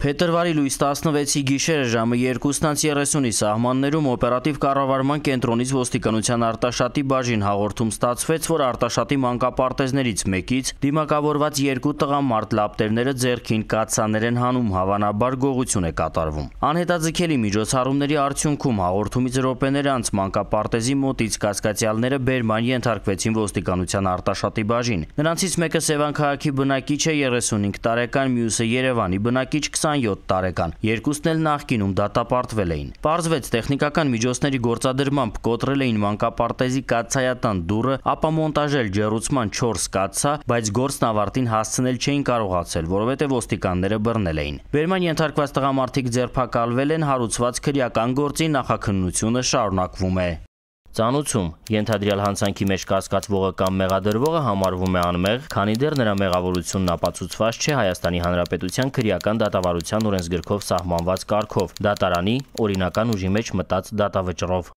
Փետրվարի լույս 16-ի գիշերը ժամը 2:30-ի սահմաններում օպերատիվ կառավարման կենտրոնից ոստիկանության Արտաշատի բաժին հաղորդում ստացվեց, որ Արտաշատի մանկապարտեզներից մեկից դիմակավորված երկու տղամարդ լապտերները ձեռքին կաթսաներ են հանում, հավանաբար գողություն է կատարվում։ Անհետաձգելի միջոցառումների արդյունքում հաղորդումից րոպեներ անց մանկապարտեզի մոտից կասկածյալները բերման ենթարկվեցին ոստիկանության Արտաշատի բաժին։ Նրանցից մեկը Սևան քաղաքի բնակիչ է 35 տարեկան, մյուսը Երևանի բնակիչ 27 տարեկան, երկուսն էլ նախկինում դատապարտվել էին։ Պարզվեց տեխնիկական միջոցների գործադրմամբ կոտրել էին մանկապարտեզի կաթսայատան դուռը, ապա մոնտաժել ջեռուցման 4 կաթսա, բայց գործն ավարտին հասցնել չէին կարողացել, որովհետև ոստիկանները բռնել էին։ Բերման ենթարկված տղամարդիկ ձերբակալվել են, հարուցված քրեական գործի նախաքննությունը շարունակվում է։ Ծանուցում ենթադրյալ հանցանքի մեջ կասկածվողը կամ մեղադրվողը համարվում է անմեղ, քանի դեռ նրա մեղավորությունն ապացուցված չէ Հայաստանի Հանրապետության քրեական դատավարության օրենսգրքով սահմանված կարգով՝ դատարանի օրինական ուժի մեջ մտած դատավճռով։